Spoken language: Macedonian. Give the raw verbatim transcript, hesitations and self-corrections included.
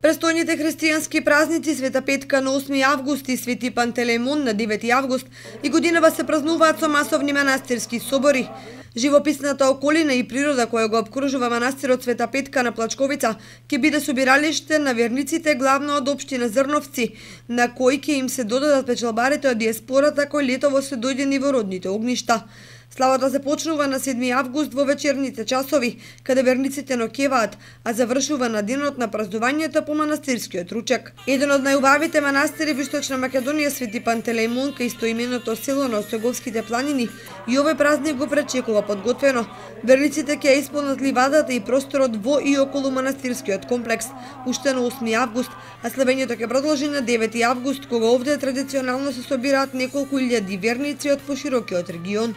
Престојните христијански празници Света Петка на осми август и Свети Пантелеимон на девети август и годинава се празнуваат со масовни манастирски собори. Живописната околина и природа која го обкружува манастирот Света Петка на Плачковица ќе биде собиралиште на верниците главно од општина Зрновци, на кои ќе им се додадат печалбарите од диаспората кои летово се дојдени во родните огништа. Славата започнува на седми август во вечерните часови, каде верниците ноќеваат, а завршува на денот на празнувањето по манастирскиот ручек. Еден од најубавите манастири во Источна Македонија, Свети Пантелеимон, кај истоименото село на Осоговските планини, и овој празник го пречекува подготвено. Верниците ќе исполнат ливадата и просторот во и околу манастирскиот комплекс уште на осми август, а славењето ќе продолжи на девети август, кога овде традиционално се собираат неколку илјади верници од поширокиот регион.